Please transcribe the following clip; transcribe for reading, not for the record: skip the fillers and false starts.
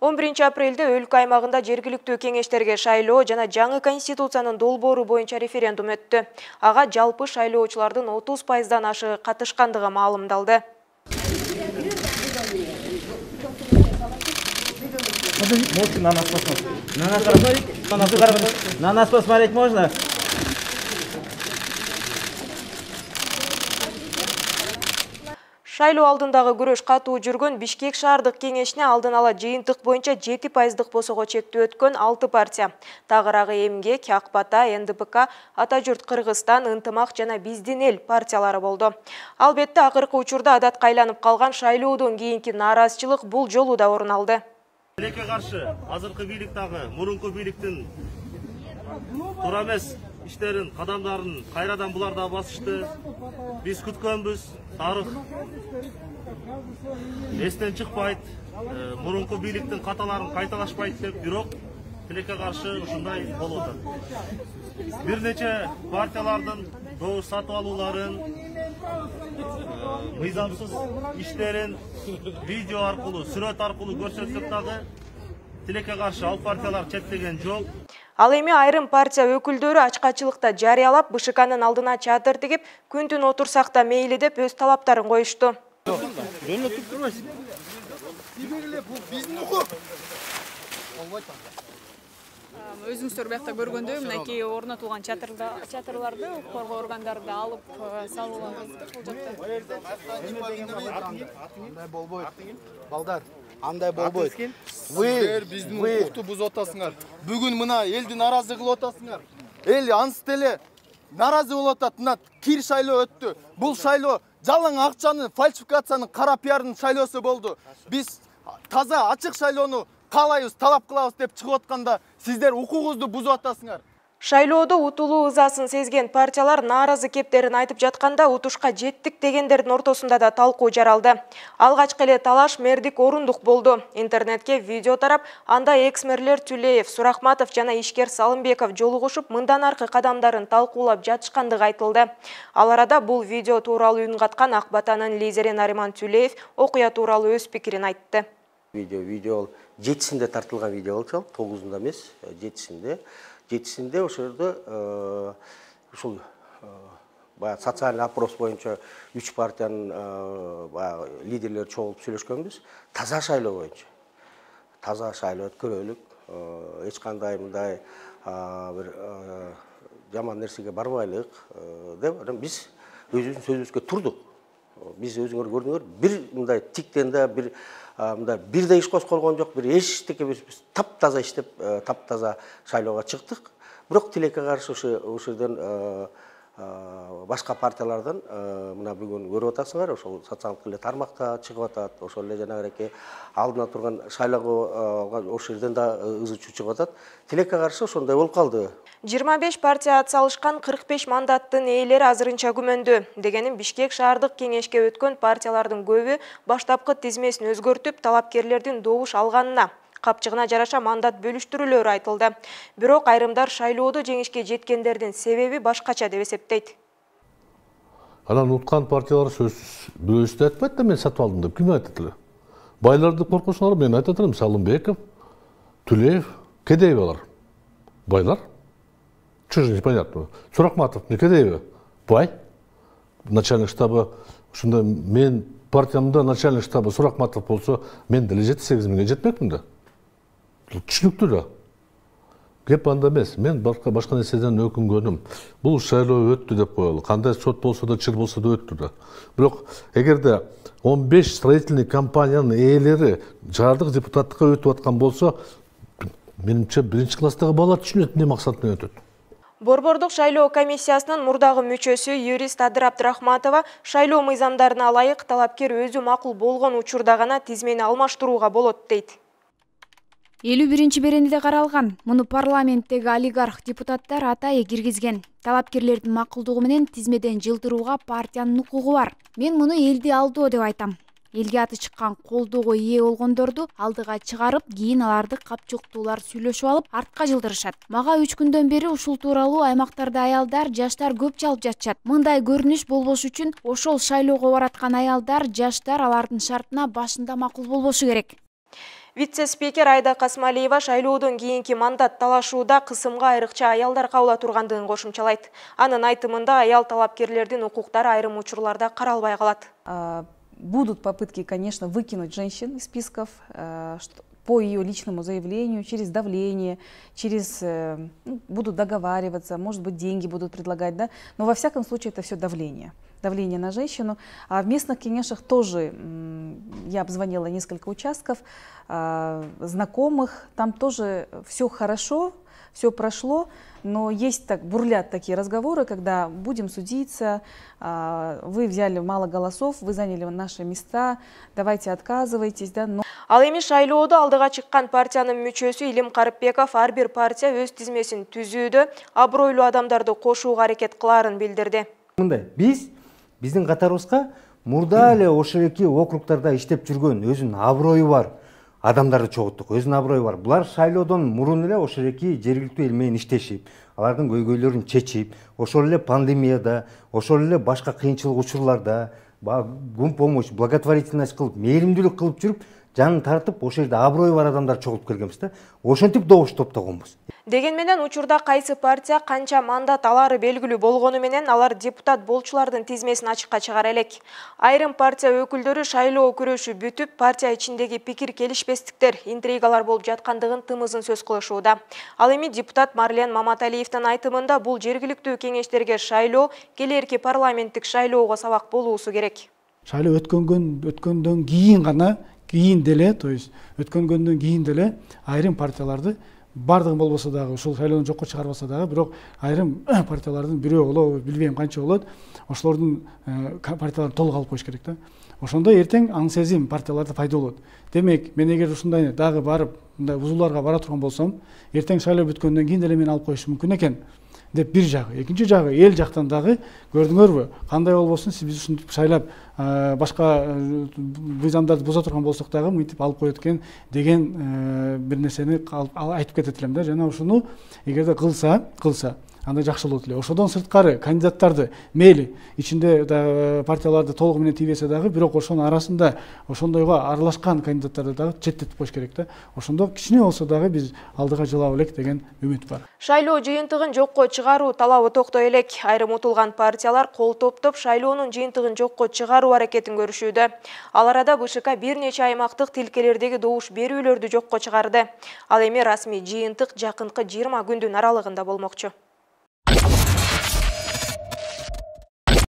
11 апрелде өлкө аймагында жергиликтүү кеңештерге шайлоо жана жаңы конституциянын долбоору боюнча референдум өттү. Ага жалпы шайлоочулардын 30%дан ашыгы катышкандыгы маалымдалды. На нас посмотреть можно? Шайлоо алдындагы күрөш катуу жүргөн Бишкек шаардык кеңешине алдын ала жыйынтык боюнча 7%дык босого чектөө өткөн 6 партия. Тагырагы Эмгек, Ак Бата, НДПК, Ата журт Кыргызстан, Ынтымак жана Биздин эл партиялары болду. Албетте акыркы учурда адатка айланып калган шайлоодон кийинки нааразычылык бул жолу да орун алды. Тилекке каршы азыркы бийлик дагы мурунку бийликтин туура эмес иштерин, кадамдарын кайрадан булар да басышты. Биз күткөнбүз, тарых эстен чыкпайт, мурунку бийликтин каталарын кайталашпайт деп, бирок тилекке каршы ушундай болуп атат. Бир нече партиялардын добуш сатып алууларын, мыйзамсыз иштерин видео аркылуу, сүрөт аркылуу көрсөтсөк дагы тилекке каршы ал партиялар чектеген жок. Ал эми айрым партия өкүлдөрү ачкачылыкта жарыялап, БШКнын алдына чатыр тигип, күн түн отурсак да мейли деп өз талаптарын коюшту. Өзүңүздөр биякта көргөндөй, мынакей орнотулган чатырларды укук коргоо органдары да алып салууланды бул жакта. Балдар, андай болбойт. Сиздер биздин укукту бузуп атасыңар. Бүгүн мына элди нааразы кылып атасыңар. Эл ансы деле нааразы болуп атат. Мына кир шайлоо өттү. Бул шайлоо жалаң акчанын, фальсификациянын, кара пиардын шайлоосу болду. Биз таза ачык шайлоону каалайбыз, талап кылабыз деп чыгып атканда сиздер укугуңузду бузуп атасыңар. Шайлоодо утулуу ызасын сезген партиялар нааразы кептерин айтып жатканда утушка жеттик дегендердин ортосунда да талкуу жаралды. Алгачкы эле талаш мэрдик орундук болду. Интернетке видео тарап, анда экс-мэрлер Түлеев, Сурахматов жана ишкер Салымбеков жолугушуп, мындан аркы кадамдарын талкуулап жатышкандыгы айтылды. Ал арада бул видео тууралуу үн каткан Ак Батанын лидери Нариман Түлеев окуя тууралуу өз пикирин айтты. Видео 7-синде тартылган видео болчу, 9-унда эмес, 7-синде ошолордо ушул социальный опрос боюнча 3 партиянын лидерлери чогулуп сүйлөшкөнбүз. Таза шайлоо боюнча. Таза шайлоо өткөрөлүк, эч кандай мындай бир жаман нерсеге барбайлык деп биз өзүбүздүн сөзүбүзгө турдук. Биз өзүңөр көрдүңөр, бир мындай тиктен да бир мындай бир да иш козголгон жок, бир эчтеке биз таптаза иштеп, таптаза шайлоого чыктык. Бирок тилекке каршы ошол жерден башка партиялардан мына бүгүн көрүп атасыңар, ошол социалдык эле тармакта чыгып атат, ошол эле жанагы алдына турган шайлоого ошол жерден да ызы чуу чыгып атат. Тилекке каршы ошондой болуп калды. 25 партия атсалышкан 45 мандаттын ээлери азырынча күмөндө. Дегенин Бишкек шаардык кеңешке өткөн партиялардын көбү баштапкы тизмесин өзгөртүп, талапкерлердин добуш алганына, капчыгына жараша мандат бөлүштүрүүлөрү айтылды. Бирок айрымдар шайлоодо жеңишке жеткендердин себеби башкача деп эсептейт. Анан уткан партиялар сөзсүз бирөөсү айтпайт да, мен сатып алдым деп ким айтат эле? Байларды коркусуңар, мен айтат элем, Салымбеков, Түлеев, кедей алар. Байлар. Чего же непонятно? Сурахматов не кедей бай. Начальник штаба, ушунда мен партиямда начальник штаба Сурахматов болсо, мен деле 7-8 миңге жетмекмин да. Түшүнүктүү да. Кеп анда эмес, мен башка нерседен өкүнгөнүм. Бул шайлоо өттү деп коелу. Кандай сот болсо да, чыр болсо да өттү да. Бирок эгерде 15 строительный компаниянын ээлери шаардык депутаттыкка өтүп аткан болсо, менимче биринчи класстагы бала түшүнөт эмне максат менен өтөт. Борбордук шайлоо комиссиясынын мурдагы мүчөсү юрист Адыр Абдрахматова шайлоо мыйзамдарына ылайык талапкер өзү макул болгон учурда гана тизмени алмаштырууга болот дейт. 51-чи беренеде каралган. Муну парламенттеги олигарх депутаттар атайы киргизген. Талапкерлердин макулдугу менен тизмеден жылдырууга партиянын укугу бар. Мен муну элди алдоо деп айтам. Элге аты чыккан колдоого ээ болгондорду алдыга чыгарып, кийин аларды капчыктуулар сүйлөшүп алып, артка жылдырышат. Мага 3 күндөн бери ушул тууралуу аймактарда аялдар, жаштар көп чалып жатышат. Мындай көрүнүш болбош үчүн ошол шайлоого бараткан аялдар, жаштар алардын шартына башында макул болбошу керек. Вице-спикер Айда Касмалиева шайлоодон кийинки мандат талашууда кысымга айрыкча аялдар кабыла тургандыгын кошумчалайт. Анын айтымында аял талапкерлердин укуктары айрым учурларда каралбай калат. Будут попытки, конечно, выкинуть женщин из списков по ее личному заявлению, через давление, будут договариваться, может быть, деньги будут предлагать, да? Но во всяком случае это все давление на женщину. А в местных кеңешах тоже я обзвонила несколько участков, знакомых, там тоже все хорошо, все прошло, но есть бурлят такие разговоры, когда будем судиться, вы взяли мало голосов, вы заняли наши места, давайте отказывайтесь, да. Ал эми шайлоодо алдыга чыккан партиянын мүчөсү Илим Карыпбеков ар бир партия өз тизмесин түзүүдө абройлуу адамдарды кошууга аракет кылаарын билдирди. Мындай, биздин катарыбызга мурда эле ошол эки округтарда иштеп жүргөн өзүнүн аброю бар адамдарды чогулттук, өзүнүн аброю бар. Булар шайлоодон мурун эле ошол эки жергиликтүү эл менен иштешип, алардын көйгөйлөрүн чечип, ошол эле пандемияда, ошол эле башка кыйынчылык учурларда гум помощь, благотворительность кылып, мээримдүүлүк кылып жүрүп, жанын тартып, ошол жерде аброю бар адамдар чогулуп келгенбиз да. Ошентип добуш топтогонбуз. Деген менен учурда кайсы партия канча мандат алары белгилүү болгону менен алар депутат болчулардын тизмесин ачыкка чыгара элек. Айрым партия өкүлдөрү шайлоо күрөшү бүтүп, партия ичиндеги пикир келишпестиктер, интригалар болуп жаткандыгын тымызын сөз кылышууда. Ал эми депутат Марлен Маматалиевдин айтымында бул жергиликтүү кеңештерге шайлоо келерки парламенттик шайлоого сабак болуусу керек. Шайлоо өткөндөн кийин гана то есть өткөнгөндөн кийин деле айрым партияларды бардыгы болбосо дагы, ушул шайлоодон жокко чыгарбаса дагы, бирок айрым партиялардын бирөө болобу, билбейм канча болот, ошолордун партияларын толук алып коюш керек да. Ошондо эртең аң сезим партияларда пайда болот. Демек, мен эгер ушундай дагы барып, мындай узууларга бара турган болсом, эртең шайлоо бүткөндөн кийин деле мени алып коюшу мүмкүн экен деп бир жагы. Экинчи жагы, эл жактан дагы көрдүңөрбү, кандай болбосун, биз ушинтип шайлап башка мыйзамдарды буза турган болсок дагы мынтип алып коет экен деген бир нерсени айтып кетет элем да. Жана ушуну эгерде кылса, андай жакшы болот эле. Ошодон сырткары кандидаттарды мейли ичинде партияларды толугу менен тийбесе дагы, бирок ошонун арасында ошондойго аралашкан кандидаттарды дагы четтетип коюш керек да. Ошондо кичине болсо дагы биз алдыга жылап элек деген үмүт бар. Шайлоо жыйынтыгын жокко чыгаруу талабы токтой элек. Айрым утулган партиялар кол топтоп шайлоонун жыйынтыгын жокко чыгаруу аракетин көрүшүүдө. Ал арада БШК бир нече аймактык тилкелердеги добуш берүүлөрдү жокко чыгарды. Ал эми расмий жыйынтык жакынкы 20 күндүн аралыгында болмокчу.